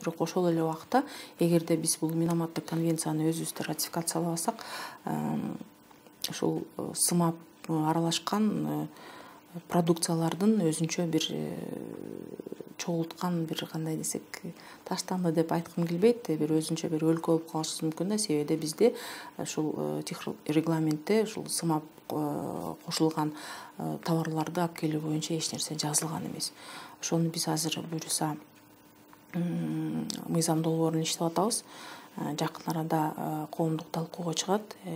бирок ошол эле убакта эгерде биз бул Минаматтык конвенцияны өзүбүздө ратификациялабасак, ушул сымап аралашкан продукциялардын өзүнчө бир чогулткан бир кандай десек таштанды деп айткым келбейт, бир өзүнчө бир өлкө болуп калышыбыз мүмкүн да, себеби бизде ушул регламентте ушул сымап кошулган товарларды алып келүү боюнча эч нерсе жазылган эмес. Ошону биз азыр буюрса мыйзам долбоорун иштеп атабыз. Жакын арада коомдук талкууга чыгат.